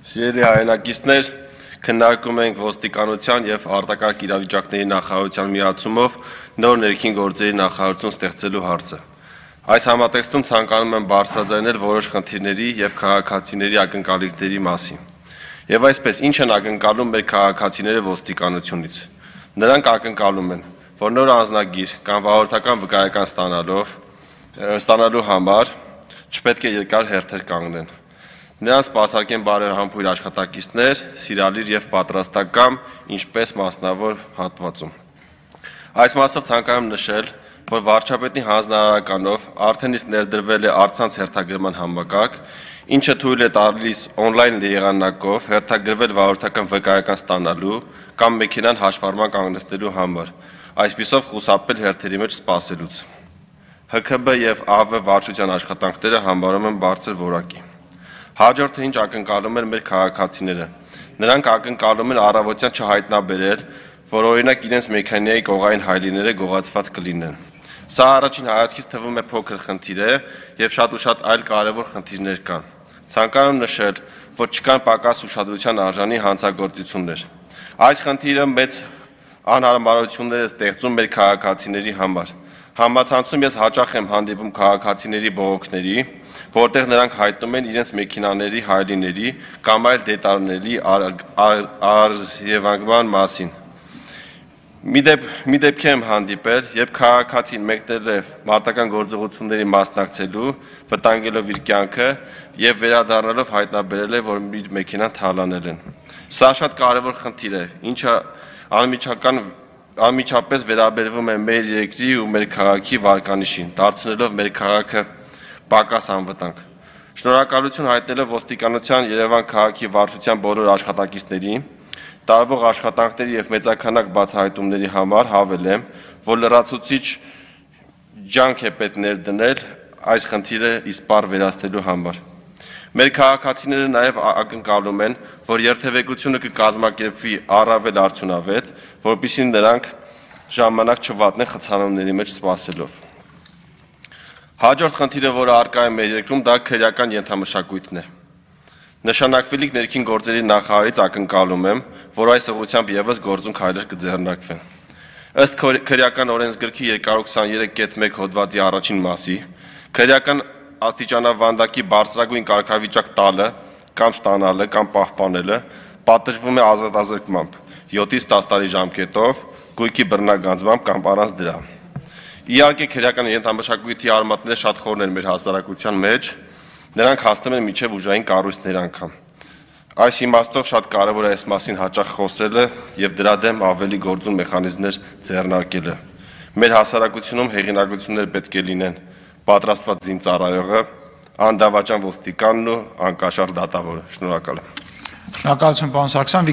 Սիրելի հայրենակիցներ, քննարկում ենք ոստիկանության և արտակարգ իրավիճակների նախարարության միացումով նոր ներքին գործերի նախարարություն ստեղծելու հարցը։ Այս համատեքստում ցանկանում եմ բարձրաձայնել որոշ խնդիրների և քաղաքացիների ակնկալիքների մասին։ Եվ այսպես, ինչ են ակնկալում մեր քաղաքացիները ոստիկանությունից։ Նրանք ակնկալում են, որ նոր անձնագիր կամ վարորդական վկայական ստանալու համար չպետք է երկար հերթեր կանգնեն։ Նրանց սպասարկեն բարեհամբույր աշխատակիցներ, սիրալիր և պատրաստակամ, ինչպես մասնավոր հատվածում։ Այս մասով ցանկանում եմ նշել, որ վարչապետի հանձնարարականով արդեն իսկ ներդրվել է առցանց հերթագրման համակարգ, ինչը թույլ է տալիս on-line եղանակով հերթագրվել վարորդական վկայական ստանալու կամ մեքենան հաշվառման կանգնեցնելու համար, այսպիսով խուսափել հերթերի մեջ սպասելուց։ ՀՔԲ և ԱՎ վարչության աշխատանքները համարում եմ բարձր որակի։ Հաջորդը ինչ ակնկալում են մեր քաղաքացիները։ Նրանք ակնկալում են առավոտյան չհայտնաբերել, որ օրինակ իրենց մեքենայի կողային հայելիները գողացված կլինեն։ Սա առաջին հայացքից թվում է փոքր խնդիր է և շատ այլ կարևոր խնդիրներ կան։ Ցանկանում եմ նշել, որ չկան պակաս ուշադրության արժանի հանցագործություններ։ Այս խնդիրը մեծ անհարմարություններ է ստեղծում մեր քաղաքացիների համար։ Համացանցում ես հաճախ եմ հանդիպում քաղաքացիների բողոքների, որտեղ նրանք հայտնում են իրենց մեքենաների հայելիների կամ այլ դետալների առևանգման մասին։ Մի դեպքի եմ հանդիպել, երբ քաղաքացին մեկնել է մարտական գործողությունների մասնակցելու, վտանգելով իր կյանքը և վերադառնալով հայտնաբերել է, որ իր մեքենան թալանել են։ Սա շատ կարևոր խնդիր է, ինչը անմիջապես վերաբերվում է մեր երկրի ու մեր քաղաքի վարկանիշին, դարձնելով մեր քաղաքը պակաս անվտանգ։ Շնորհակալություն հայտնելով ոստիկանության Երևան քաղաքի վարչության բոլոր աշխատակիցներին, տարվող աշխատանքների և մեծաքանակ բացահայտումների համար հավելեմ, որ լրացուցիչ ջանք է պետք ներդնել այս խնդիրը իսպառ վերացնելու համար։ Մեր քաղաքացիները նաև ակնկալում են, որ երթևեկությունը կկազմակերպվի առավել արդյունավետ, որպեսզի նրանք ժամանակ չվատնեն խցանումների մեջ սպասելով։ Հաջորդ խնդիրը, որը առկա է մեր երկրում, դա քրեական ենթամշակույթն է։ Նշանակվելիք ներքին գործերի նախարարից ակնկալում եմ, որ այս ուղղությամբ ևս գործուն քայլեր կձեռնարկվեն։ Ըստ քրեական օրենսգրքի 223.1 հոդվածի առաջին մասի, քրեական աստիճանավանդակի բարձրագույն կարգավիճակ տալը կամ ստանալը կամ պահպանելը պատժվում է ազատազրկմամբ 7-ից 10 տարի ժամկետով, գույքի բռնագանձմամբ կամ առանց դրա։ Իհարկե քրեական ենթամշակույթի արմատները շատ խորն են մեր հասարակության մեջ, նրանք հասնում են մինչև ուժային կառույցներ անգամ։ Այս իմաստով շատ կարևոր է այս մասին հաճախ խոսելը և դրա դեմ ավելի գործուն մեխանիզմներ ձեռնարկելը։ Մեր հասարակությունում հեղինակություններ պետք է լինեն պատրաստված զինծառայողը, անդավաճան ոստիկանն ու անկաշառ դատավորը։ Շնորհակալ եմ։ Շնորհակալություն, պարոն Սարգսյան։